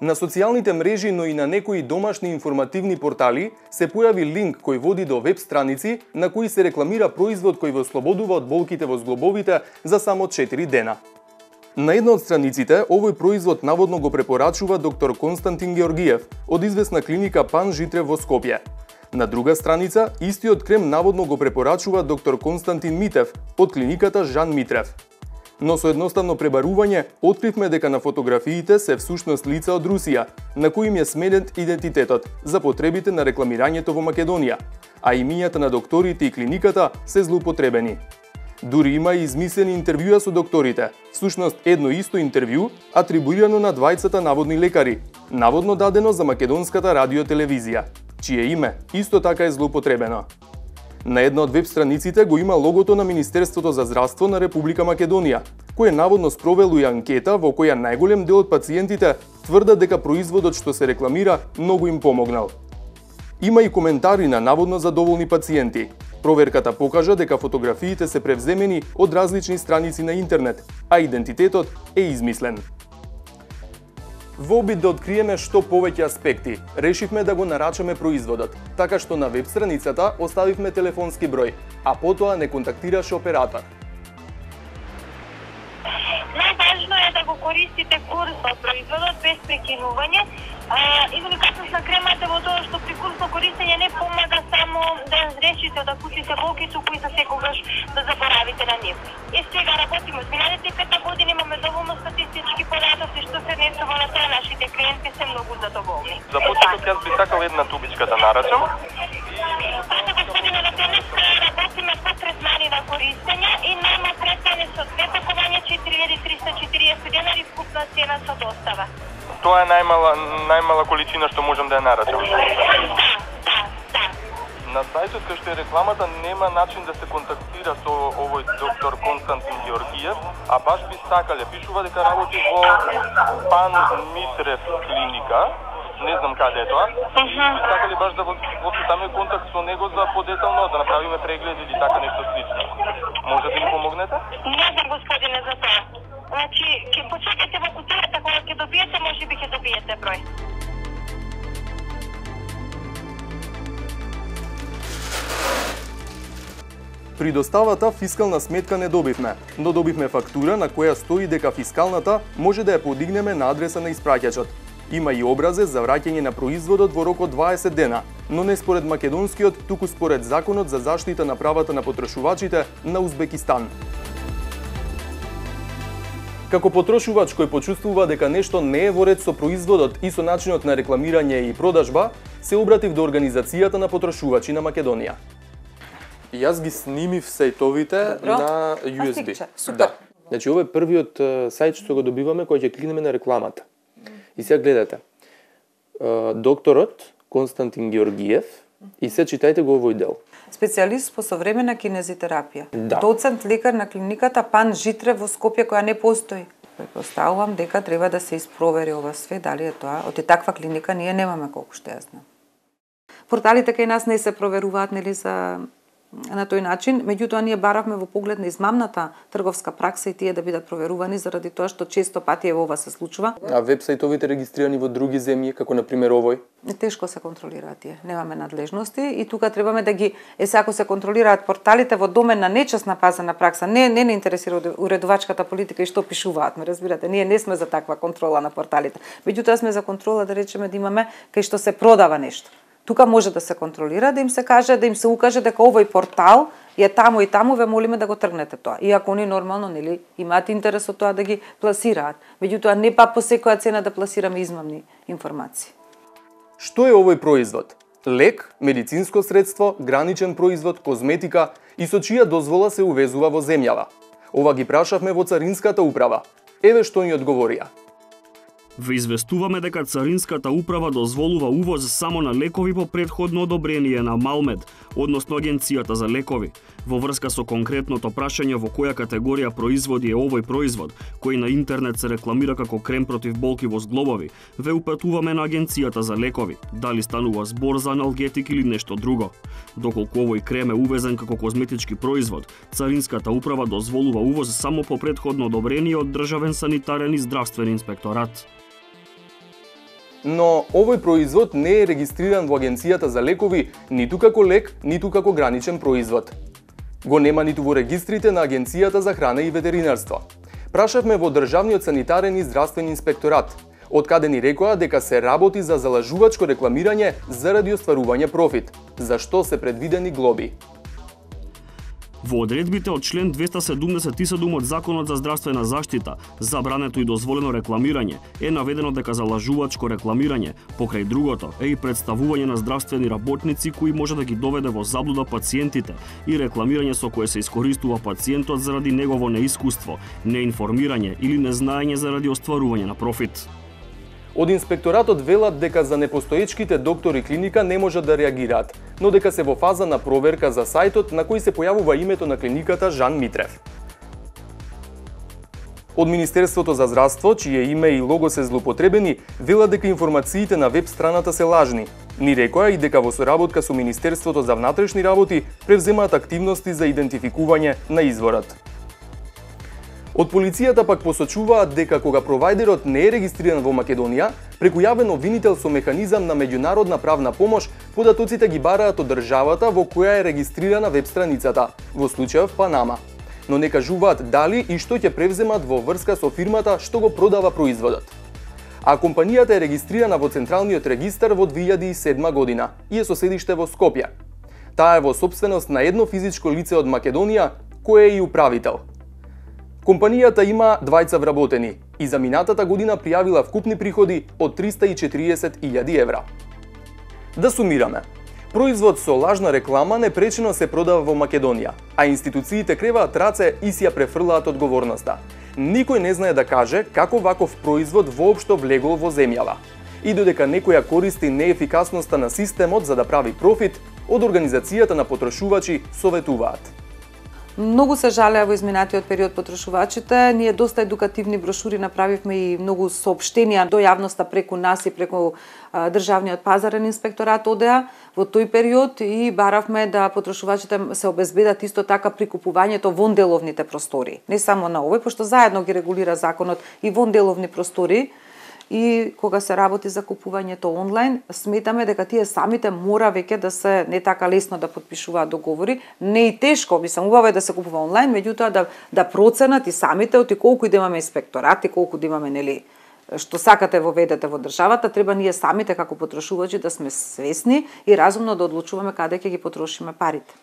На социјалните мрежи, но и на некои домашни информативни портали се појави линк кој води до веб страници на кои се рекламира производ кој ве ослободува од болките во зглобовите за само 4 дена. На една од страниците, овој производ наводно го препорачува доктор Константин Георгиев од известна клиника Пан Житре во Скопје. На друга страница, истиот крем наводно го препорачува доктор Константин Митев од клиниката Жан Митрев. Но со едноставно пребарување, откривме дека на фотографиите се всушност лица од Русија, на кои им е сменет идентитетот за потребите на рекламирањето во Македонија, а имињата на докторите и клиниката се злоупотребени. Дури има и измислени интервјуа со докторите, всушност едно исто интервју, атрибуирано на двајцата наводни лекари, наводно дадено за македонската радиотелевизија, чие име исто така е злоупотребено. На една од веб страниците го има логото на Министерството за здравство на Република Македонија, кое наводно спровело и анкета во која најголем дел од пациентите тврдат дека производот што се рекламира многу им помогнал. Има и коментари на наводно задоволни пациенти. Проверката покажа дека фотографиите се превземени од различни страници на интернет, а идентитетот е измислен. Во обид да откриеме што повеќе аспекти, решивме да го нарачаме производот, така што на веб страницата оставивме телефонски број, а потоа не контактираше оператор. Најважно е да го користите курсно производот без прекинување. Уникатност на кремата во тоа што при курсно користење не помага само да разрешите од акутните болки, туку и за секогаш да заборавите на нив. И сега работиме од миналите 5 години, имаме доволно статистички податоци што се однесува на тоа, нашите клиенти се многу задоволни. За почеток јас би сакал една тубичка да нарачам. Пане господине Латеневска, работиме по третмани на користење и нема третмани со 2 пакувања 4340 денари вкупна цена со достава. Тоа е најмала количина што можам да ја нарачам. Да. На сајтот кај што е рекламата нема начин да се контактира со овој доктор Константин Георгиев, а баш би сакале, пишува дека работи во Пан Митрев клиника, не знам каде е тоа. Сакале баш да воцитаме контакт со него за подетално да направиме преглед или така нешто слично. Може да ни помогнете? Не знам господине за тоа. Значи, ќе почекате во кутијата, кога ќе добиете, може би ќе добиете број. При доставата фискална сметка не добивме, но добивме фактура на која стои дека фискалната може да ја подигнеме на адреса на испраќачот. Има и образец за враќање на производот во рок од 20 дена, но не според македонскиот, туку според Законот за заштита на правата на потрошувачите на Узбекистан. Како потрошувач кој почувствува дека нешто не е во ред со производот и со начинот на рекламирање и продажба, се обратив до Организацијата на потрошувачи на Македонија. Јас ги снимив сајтовите на USB. Супер. Да. Значи, ова е првиот сајт што го добиваме кој ќе кликнеме на рекламата. И сега гледате. Докторот Константин Георгиев и се читајте го овој дел. Специјалист по современа кинезитерапија. Да. Доцент лекар на клиниката Пан Житре во Скопје, која не постои. Предпоставувам дека треба да се испровери ова све, дали е тоа. Од таква клиника ние немаме, колку што ја знам. Порталите кај нас не се проверуваат, нели, на тој начин, меѓутоа ние баравме во поглед на измамната трговска пракса и тие да бидат проверувани заради тоа што често пати ова се случува. А веб-сајтовите регистрирани во други земји, како на пример овој? Тешко се контролираат тие, немаме надлежности и тука требаме да ги ако се контролираат порталите во домен на нечесна пазарна пракса, не интересира уредувачката политика и што пишуваат, ме разбирате, ние не сме за таква контрола на порталите. Меѓутоа сме за контрола, да речеме, да имаме кај што се продава нешто. Тука може да се контролира, да им се каже, да им се укаже дека овој портал е таму и таму, ве молиме да го тргнете тоа. Иако они нормално, нели, имаат интерес од тоа да ги пласираат. Меѓутоа не па по секоја цена да пласираме измамни информации. Што е овој производ? Лек, медицинско средство, граничен производ, козметика и со чија дозвола се увезува во земјава? Ова ги прашавме во Царинската управа. Еве што ни одговорија. Ве известуваме дека Царинската управа дозволува увоз само на лекови по претходно одобрение на Малмед, односно Агенцијата за лекови. Во врска со конкретното прашање во која категорија производи е овој производ, кој на интернет се рекламира како крем против болки во зглобови, ве упатуваме на Агенцијата за лекови, дали станува збор за аналгетик или нешто друго. Доколку овој крем е увезен како козметички производ, Царинската управа дозволува увоз само по претходно одобрение од Државен санитарен и здравствен инспекторат. но овој производ не е регистриран во Агенцијата за лекови ниту како лек, ниту како граничен производ. Го нема ниту во регистрите на Агенцијата за храна и ветеринарство. Прашавме во Државниот санитарен и здравствен инспекторат, од каде ни рекоа дека се работи за залажувачко рекламирање заради остварување профит, за што се предвидени глоби. Во одредбите од член 277 од Законот за здравствена заштита, забрането и дозволено рекламирање, е наведено дека залажувачко рекламирање, покрај другото, е и представување на здравствени работници кои може да ги доведе во заблуда пациентите и рекламирање со кое се искористува пациентот заради негово неискуство, неинформирање или незнаење заради остварување на профит. Од инспекторатот велат дека за непостоечките доктори клиника не можат да реагираат, но дека се во фаза на проверка за сајтот на кој се појавува името на клиниката Жан Митрев. Од Министерството за здравство, чие име и лого се злоупотребени, велат дека информациите на веб страната се лажни. Ни рекоа и дека во соработка со Министерството за внатрешни работи превземаат активности за идентификување на изворот. Од полицијата пак посочуваат дека кога провајдерот не е регистриран во Македонија, преку јавен обвинител со механизам на меѓународна правна помош, податоците ги бараат од државата во која е регистрирана веб страницата, во случајов Панама. Но не кажуваат дали и што ќе превземат во врска со фирмата што го продава производот. А компанијата е регистрирана во Централниот регистар во 2007 година и е со седиште во Скопје. Таа е во сопственост на едно физичко лице од Македонија, кој е и управител. Компанијата има двајца вработени и за минатата година пријавила вкупни приходи од 340.000 евра. Да сумираме. Производ со лажна реклама непречено се продава во Македонија, а институциите креваат раце и си ја префрлаат одговорноста. Никој не знае да каже како ваков производ воопшто влегол во земјава. И додека некоја користи неефикасноста на системот за да прави профит, од Организацијата на потрошувачи советуваат. Многу се жалеа во изминатиот период потрошувачите. Ние доста едукативни брошури направивме и многу соопштенија до јавноста преку нас и преку Државниот пазарен инспекторат одеа во тој период и баравме да потрошувачите се обезбедат исто така при купувањето вон деловните простори. Не само на овој, пошто заедно ги регулира законот и вон деловни простори. И кога се работи за купувањето онлайн, сметаме дека тие самите мора веќе да се не така лесно да потпишуваат договори, не и тешко, убаво е да се купува онлайн, меѓутоа да проценат и самите оти колку и да имаме инспекторати, колку да имаме нели што сакате воведете во државата, треба ние самите како потрошувачи да сме свесни и разумно да одлучуваме каде ќе ги потрошиме парите.